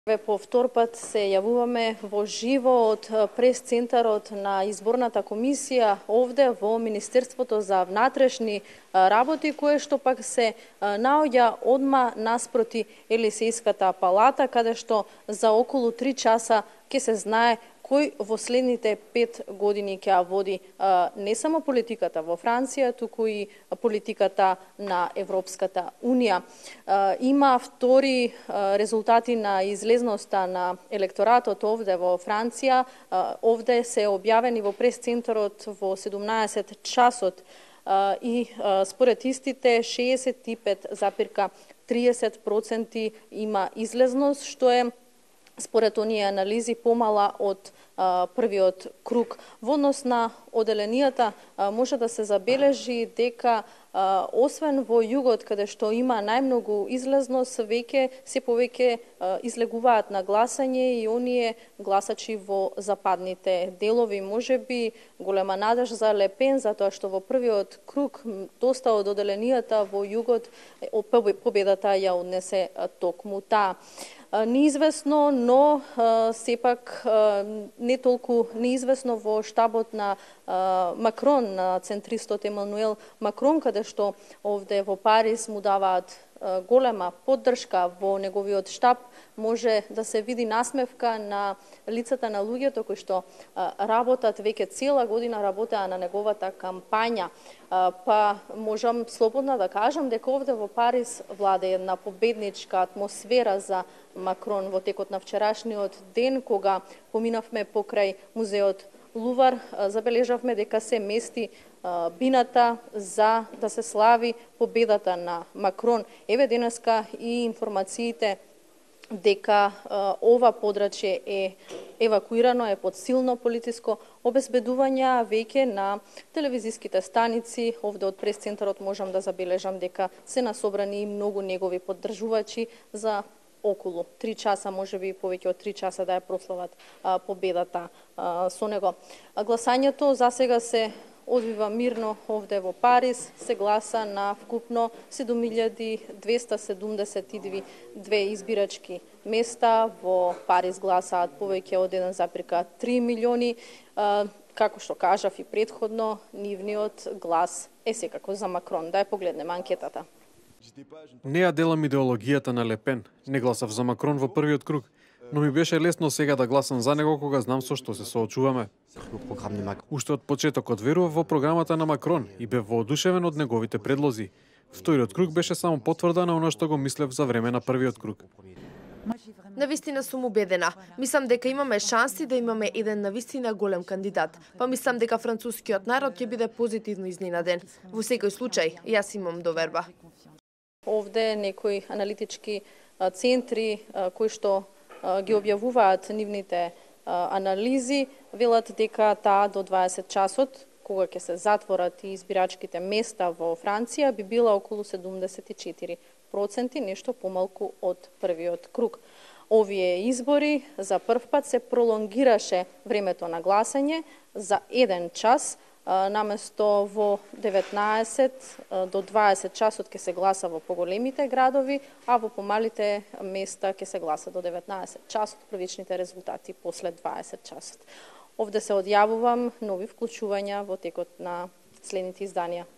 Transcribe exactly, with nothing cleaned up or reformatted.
По втор пат се јавуваме во живо од прес-центарот на изборната комисија овде во Министерството за внатрешни работи, кое што пак се наоѓа одма наспроти Елисејската палата, каде што за околу три часа ќе се знае кој во следните пет години ќе ја води не само политиката во Франција, туку и политиката на Европската Унија. Има втори резултати на излезноста на електоратот овде во Франција. Овде се објавени во прес-центарот во седумнаесет часот и според истите шеесет и пет запирка триесет проценти има излезност, што е според оние анализи помала од а, првиот круг. Во однос на оделенијата а, може да се забележи дека а, освен во југот каде што има најмногу излезност, веќе се повеќе а, излегуваат на гласање и оние гласачи во западните делови. Може би голема надеж за Ле Пен, затоа што во првиот круг доста од оделенијата во југот победата ја однесе токму таа. Неизвестно, но а, сепак а, не толку неизвестно во штабот на а, Макрон, на центристот Емануел Макрон, каде што овде во Париз му даваат а, голема поддршка во неговиот штаб, може да се види насмевка на лицата на луѓето кои што а, работат веќе цела година работеа на неговата кампања. А, па можам слободно да кажам дека овде во Париз владе една победничка атмосфера за Макрон во текот на вчерашниот ден, кога поминавме покрај музеот Лувар, забележавме дека се мести а, бината за да се слави победата на Макрон. Еве денеска и информациите дека а, ова подрачје е евакуирано, е под силно политиско обезбедување, а веќе на телевизиските станици, овде од прес-центарот можам да забележам дека се насобрани многу негови поддржувачи за околу три часа, може би повеќе од три часа да ја прослават а, победата а, со него. А гласањето за сега се одвива мирно овде во Париз, се гласа на вкупно седум илјади двесте седумдесет и две избирачки места. Во Париз гласаат повеќе од еден запирка три милиони. А, како што кажав и претходно, нивниот глас е секако за Макрон. Да ја погледнеме анкетата. Не ја делам идеологијата на Ле Пен. Не гласав за Макрон во првиот круг, но ми беше лесно сега да гласам за него кога знам со што се соочуваме. Уште од почетокот верував во програмата на Макрон и бев воодушевен од неговите предлози. Вториот круг беше само потврда на оно што го мислев за време на првиот круг. Навистина сум убедена. Мислам дека имаме шанси да имаме еден навистина голем кандидат. Па мислам дека францускиот народ ќе биде позитивно изненаден. Во секој случај, јас имам доверба. Овде некои аналитички центри кои што ги објавуваат нивните анализи велат дека таа до дваесет часот, кога ќе се затворат и избирачките места во Франција, би била околу седумдесет и четири проценти, нешто помалку од првиот круг. Овие избори за прв пат се пролонгираше времето на гласање за еден час, наместо во деветнаесет до дваесет часот ќе се гласа во поголемите градови, а во помалите места ќе се гласа до деветнаесет часот, првичните резултати после дваесет часот. Овде се одјавувам нови вклучувања во текот на следните изданија.